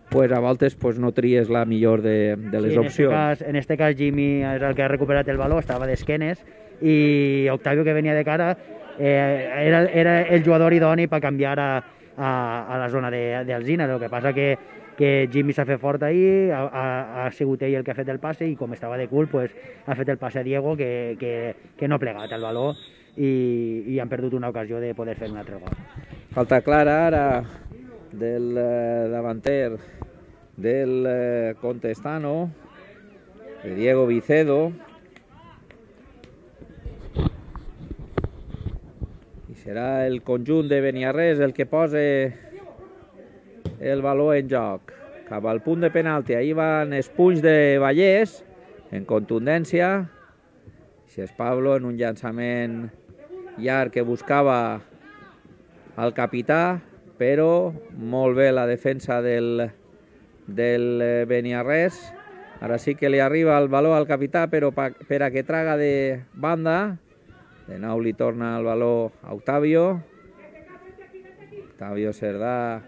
pues a voltes pues, no tries la millor de, de les sí, en opcions. Este cas, en este cas Jimmy és el que ha recuperat el valor, estava d'esquenes, i Octavio, que venia de cara, eh, era, era el jugador idoni per canviar a, a, a la zona d'Alzina. El que passa que, que Jimmy s'ha fet fort ahir, ha, ha, ha sigut ell el que ha fet el passe, i com estava de cul, pues, ha fet el passe a Diego, que, que, que no ha plegat el valor, i, i han perdut una ocasió de poder fer un altre gol. Falta clara ara del eh, davanter del eh, Contestano, de Diego Vicedo, i serà el conjunt de Beniarrés el que posa el valor en joc cap al punt de penalti. Ahir van els punys de Vallès en contundència, si és Pablo en un llançament llarg que buscava el capità, però molt bé la defensa del, del Beniarrés. Ara sí que li arriba el valor al capità, però pa, per a que traga de banda. De nou li torna el valor a Octavio. Octavio Cerdà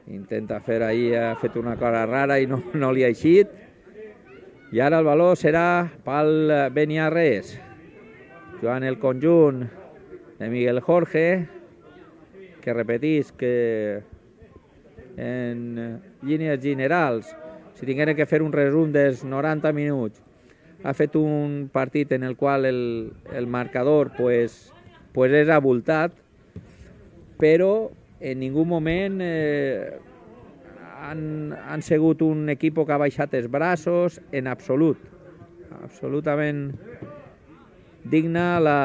intenta fer ahir, ha fet una cosa rara i no, no li ha eixit. I ara el valor serà pel Beniarrés. Jugant el conjunt de Miguel Jorge, que repetís que en línies generals, si tingueren que fer un resum dels noranta minuts, ha fet un partit en el qual el, el marcador pues, pues és abultat, però en ningú moment eh, han, han sigut un equip que ha baixat els braços en absolut. Absolutament digna la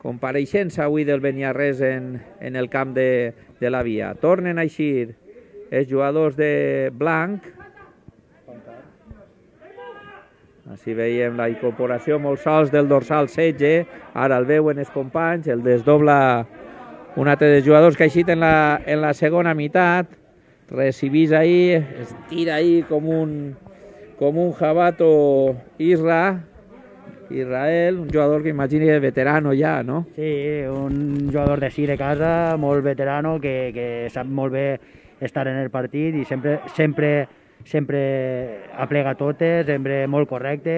compareixença avui del Beniarrés en, en el camp de, de la Via. Tornen a eixir els jugadors de blanc. Així veiem la incorporació molt sols del dorsal setze, ara el veuen els companys, el desdobla un altre dels jugadors que ha eixit en la, en la segona meitat, recibís ahí, es tira ahí com un, com un jabato Isra, Israel, un jugador que imagini és veterano ja, no? Sí, un jugador de sí de casa, molt veterano, que, que sap molt bé estar en el partit i sempre, sempre, sempre aplega totes, sempre molt correcte,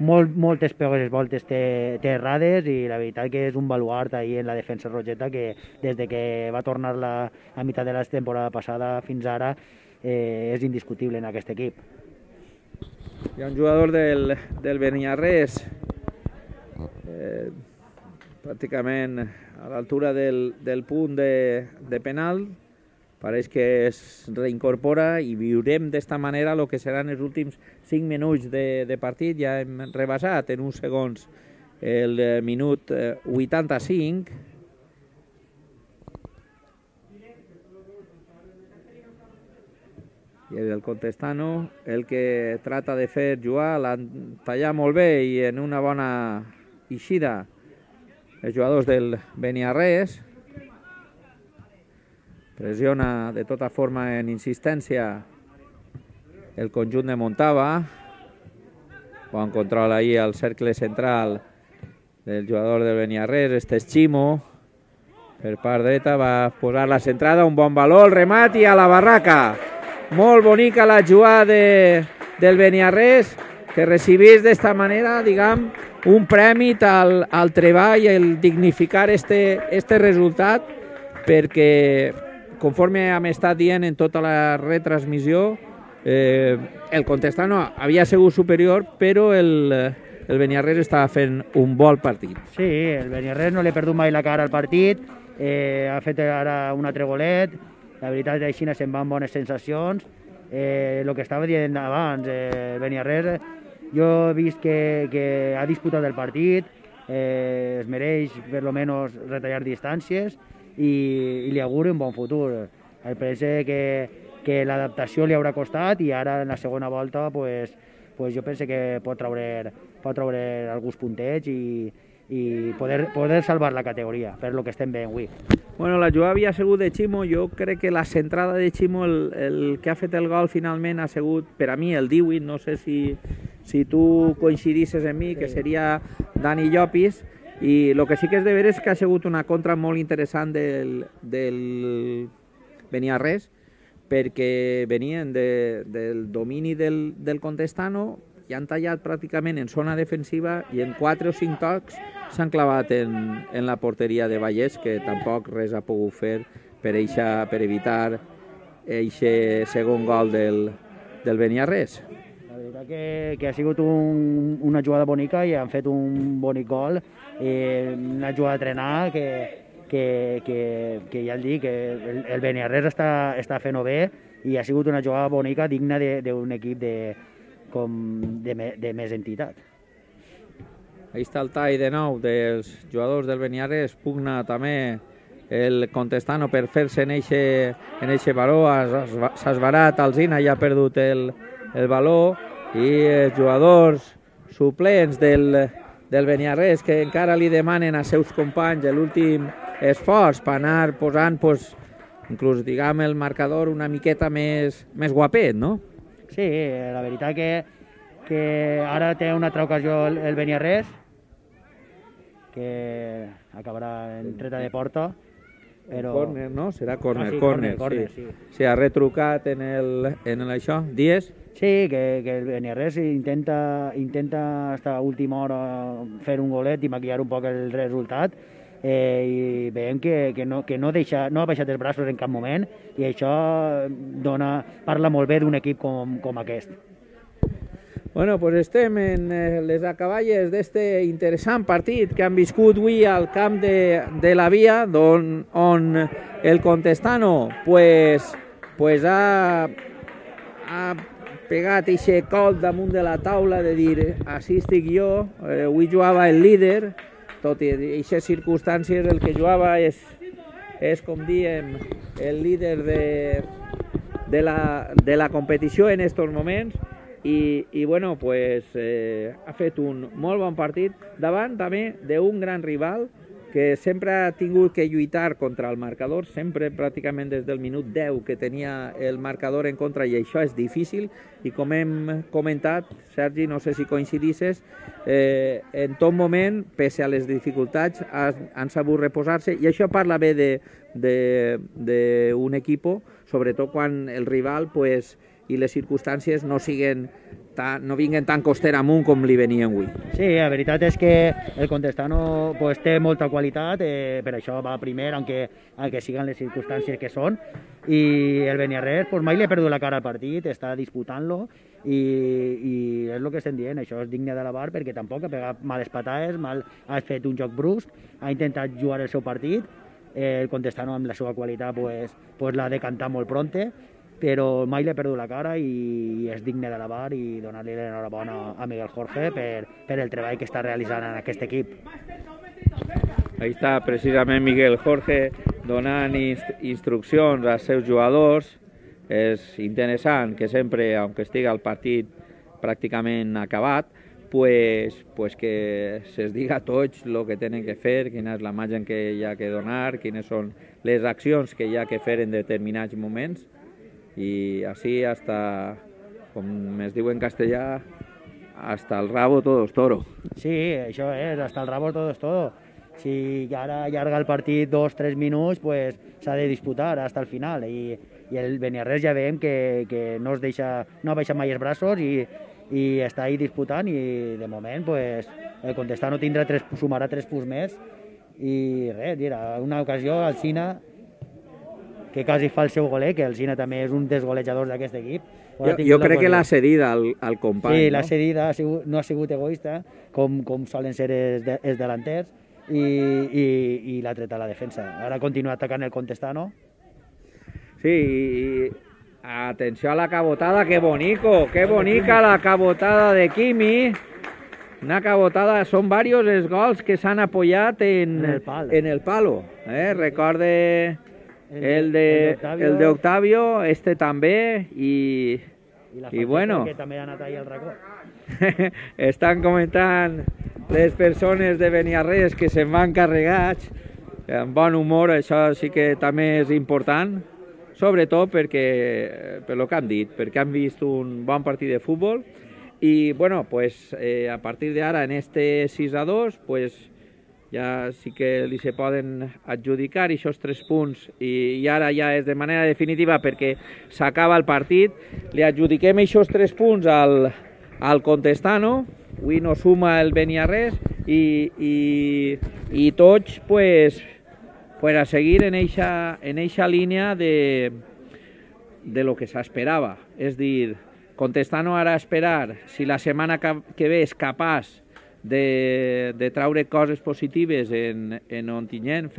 molt, moltes poques voltes té, té errades i la veritat que és un baluart ahir en la defensa rogeta que des de que va tornar la, a meitat de la temporada passada fins ara eh, és indiscutible en aquest equip. Hi ha un jugador del, del Beniarrés, eh, pràcticament a l'altura del, del punt de, de penal, pareix que es reincorpora i viurem d'esta manera el que seran els últims cinc minuts de, de partit. Ja hem rebassat en uns segons el minut vuitanta-cinc. I el Contestano el que trata de fer jugar, l'han tallat molt bé i en una bona eixida els jugadors del Beniarrés. Pressiona de tota forma en insistència el conjunt de Montava. Bon control ahí al cercle central del jugador del Beniarrés, este és Ximo. Per part dreta va posar la centrada, un bon valor, el remat i a la barraca. Molt bonica la jugada de, del Beniarrés, que recibís d'esta manera, diguem, un premi al, al treball i el dignificar este, este resultat, perquè conforme hem estat dient en tota la retransmissió, eh, el Contestano havia sigut superior, però el, el Beniarrés estava fent un bon partit. Sí, el Beniarrés no li ha perdut mai la cara al partit, eh, ha fet ara un altre golet, la veritat és que així se'n van bones sensacions. Eh, el que estava dient abans, eh, el Beniarrés, jo he vist que, que ha disputat el partit, eh, es mereix per lo menos retallar distàncies, i, i li auguro un bon futur. El penso que, que l'adaptació li haurà costat i ara en la segona volta pues, pues jo penso que pot treure, pot treure alguns puntets i, i poder, poder salvar la categoria, per lo que estem veient avui. Bueno, la jugada havia sigut de Ximo, jo crec que la centrada de Ximo, el, el que ha fet el gol finalment ha sigut per a mi el divuit, no sé si, si tu coincidisses amb mi, sí, que seria Dani Llopis. I el que sí que és de veure és que ha sigut una contra molt interessant del, del Beniarrés, perquè venien de, del domini del, del Contestano i han tallat pràcticament en zona defensiva i en quatre o cinc tocs s'han clavat en, en la porteria de Vallès, que tampoc res ha pogut fer per, eixa, per evitar aquest segon gol del, del Beniarrés. La veritat que, que ha sigut un, una jugada bonica i han fet un bonic gol. Eh, una jugada d'entrenar que, que, que, que ja el dic, que el, el Beniarrés està, està fent-ho bé i ha sigut una jugada bonica digna d'un equip de, com de, de més entitat. Ahí està el tall de nou dels jugadors del Beniarrés, pugna també el Contestano per fer-se en eixe valor, s'ha esbarat, Alzina ja ha perdut el, el valor i els jugadors suplents del del Beniarrés que encara li demanen a seus companys l'últim esforç per anar posant, pues, inclús, diguem, el marcador una miqueta més, més guapet, no? Sí, la veritat que, que ara té una altra ocasió el, el Beniarrés, que acabarà en treta de porta. Però... Corner, no? Serà corner, ah, sí, corner, corner, sí. sí. Sí, ha retrucat en, el, en el això. Dies? Sí, que, que el Beniarrés intenta, intenta hasta última hora fer un golet i maquillar un poc el resultat, eh, i veiem que, que, no, que no, deixa, no ha baixat els braços en cap moment i això dona, parla molt bé d'un equip com, com aquest. Bueno, pues estem en les acaballes d'este interessant partit que han viscut avui al camp de, de la Via, on, on el Contestano pues, pues ha, ha pegat eixe col damunt de la taula de dir així estic jo, eh, avui jugava el líder, tot i aquestes circumstàncies el que jugava és, és com diem, el líder de, de la, de la competició en estos moments i, i bueno, pues, eh, ha fet un molt bon partit davant també d'un gran rival que sempre ha tingut que lluitar contra el marcador, sempre pràcticament des del minut deu que tenia el marcador en contra, i això és difícil, i com hem comentat, Sergi, no sé si coincidisses, eh, en tot moment, pese a les dificultats, han, han sabut reposar-se, i això parla bé d'un equip, sobretot quan el rival pues, i les circumstàncies no siguen tan, no vinguen tan coster amunt com li venien avui. Sí, la veritat és que el Contestano pues, té molta qualitat, eh, per això va primer, aunque, aunque siguen les circumstàncies que són, i el Beniarrés pues, mai li ha perdut la cara al partit, està disputant-lo, i, i és el que estem dient, això és digne de l'avar perquè tampoc ha pegat males patades, mal, ha fet un joc brusc, ha intentat jugar el seu partit, eh, el Contestano amb la seva qualitat pues, pues, l'ha decantat molt pronte, però mai li ha perdut la cara i és digne de l'avar i donar-li l'enhorabona a Miguel Jorge per, per el treball que està realitzant en aquest equip. Ahí està precisament Miguel Jorge donant inst instruccions als seus jugadors. És interessant que sempre, aunque estigui el partit pràcticament acabat, pues, pues que se'ls diga a tots el que tenen que fer, quina és la imatge que hi ha que donar, quines són les accions que hi ha que fer en determinats moments. Y así hasta, com es diu en castellà, hasta el rabo todo es toro. Sí, això és, hasta el rabo todo es todo. Si ara allarga el partit dos o tres minuts, pues s'ha de disputar hasta el final. I, i el Beniarrés ja veiem que, que no es deixa, no baixa mai els braços i, i està ahí disputant, i de moment pues, el Contestano tindrà tres, sumarà tres punts més i res, dirà, una ocasió al Sina que quasi fa el seu goler, que el Sina també és un dels golejadors d'aquest equip. Jo, jo crec que l'ha cedit al, al company. Sí, no? l'ha cedit, ha sigut, no ha sigut egoista, com, com solen ser els, de, els delanters, i, i, i l'ha tret a la defensa. Ara continua atacant el Contestano. Sí, y atenció a la cabotada, qué bonito, qué bonica la cabotada de Quimi. Una cabotada, son varios els gols que s'han apoyat en, en el palo. En el palo eh? Recorde el de, el de Octavio, este també, i, i, i bueno, que també ha anat ahí al racó. Estan comentant les persones de Beniarrés que se'n van carregats amb bon humor, això sí que també és important, sobretot perquè, per lo que han dit, perquè han vist un bon partit de futbol i bueno, pues eh, a partir d'ara en este sis a dos, pues ja sí que li se poden adjudicar aquests tres punts i, i ara ja és de manera definitiva perquè s'acaba el partit. Li adjudiquem aquests tres punts al, al Contestano, avui no suma el Beniarrés i, i, i tots pues, pues a seguir en eixa, en eixa línia de, de lo que s'esperava. És dir, Contestano ara a esperar si la setmana que ve és capaç de, de traure coses positives en, en Ontinyent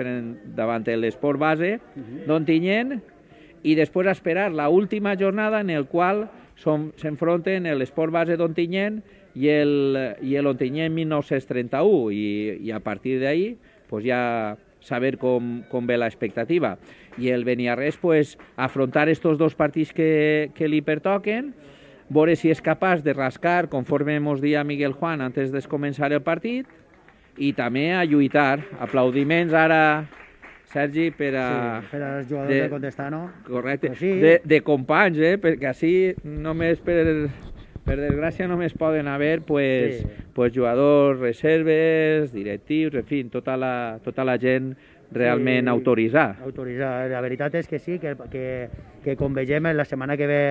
davant l'Esport Base d'Ontinyent i després esperar la última jornada en el qual s'enfronten l'Esport Base d'Ontinyent i l'Ontinyent mil nou-cents trenta-u i, i a partir d'ahí pues ja saber com, com ve l'expectativa. I el Beniarrés pues, afrontar estos dos partits que, que li pertoquen, veure si és capaç de rascar, conforme ens dia Miguel Juan antes de començar el partit, i també a lluitar. Aplaudiments ara, Sergi, per a... Sí, per als jugadors de, de Contestano. Correcte, pues sí. de, de companys, eh? Perquè així només per, per desgràcia només poden haver pues, sí. pues, jugadors, reserves, directius, en fi, tota la, tota la gent realment sí, autoritzada. Autoritzada. La veritat és que sí, que, que, que com vegem la setmana que ve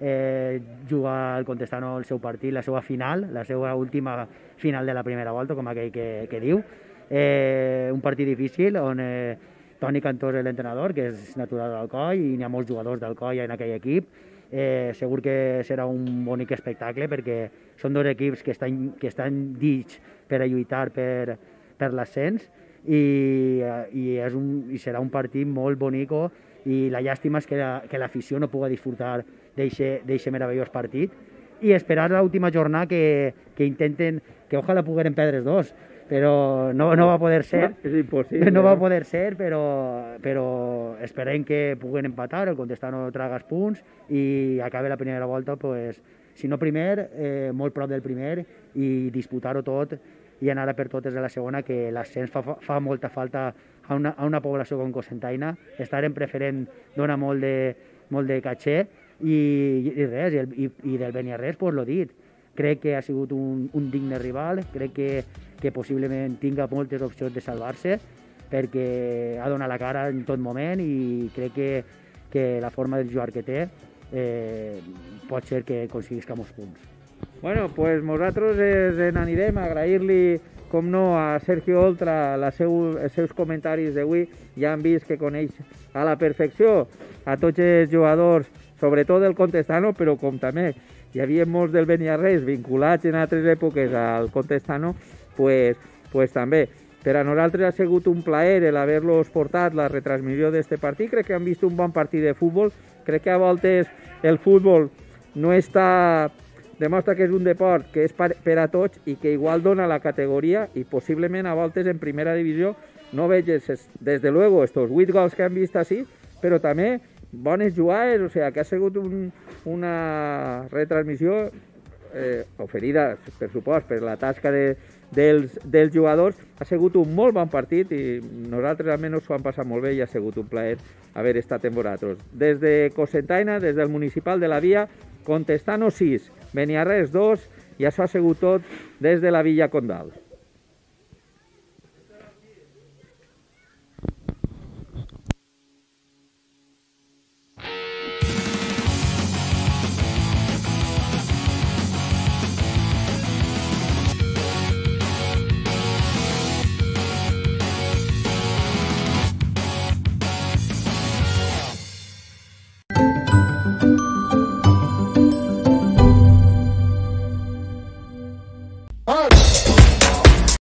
Eh, juga el Contestano el seu partit, la seva final, la seva última final de la primera volta, com aquell que, que diu. Eh, un partit difícil on eh, Toni Cantós és l'entrenador, que és natural d'Alcoi, i n'hi ha molts jugadors d'Alcoi en aquell equip. Eh, segur que serà un bonic espectacle perquè són dos equips que estan, que estan dits per a lluitar per, per l'ascens i, i, és un, i serà un partit molt bonico, i la llàstima és que l'afició la, no pugui disfrutar d'aquest meravellós partit i esperar l'última jornada que, que intenten, que ojalà puguem perdre els dos, però no, no va poder ser. És impossible. No va poder ser, però, però esperem que puguen empatar, el Contestano traga els punts i acabe la primera volta, pues, si no primer, eh, molt prop del primer i disputar-ho tot i anar a per totes de la segona, que l'ascens fa, fa molta falta a una, a una població com Cocentaina. Estar en preferent dona molt de, molt de caché i, i res, i, el, i, i del Beniarrés, pues, l'ho dit. Crec que ha sigut un, un digne rival, crec que, que possiblement tinga moltes opcions de salvar-se, perquè ha donat la cara en tot moment i crec que, que la forma de jugar que té eh, pot ser que aconseguisca molts punts. Bueno, pues nosaltres eh, n'anirem a agrair-li, com no, a Sergio Oltra la seu, els seus comentaris d'avui. Ja han vist que coneix a la perfecció a tots els jugadors, sobretot del Contestano, però com també hi havia molts del Beniarrés vinculats en altres èpoques al Contestano, pues, pues també. Per a nosaltres ha sigut un plaer el haver-los portat la retransmissió d'aquest partit. Crec que han vist un bon partit de futbol. Crec que a voltes el futbol no està... demostra que és un deport que és per a tots i que igual dona la categoria i possiblement a voltes en primera divisió no veig, des de luego, estos vuit gols que han vist així, però també bones jugades, o sigui, que ha sigut un, una retransmissió eh, oferida, per supost, per la tasca de, dels, dels jugadors. Ha sigut un molt bon partit i nosaltres almenys ho hem passat molt bé i ha sigut un plaer haver estat amb vosaltres. Des de Cocentaina, des del municipal de la Via, Contestano sis, Beniarrés dos, i això ha sigut tot des de la Villa Condal.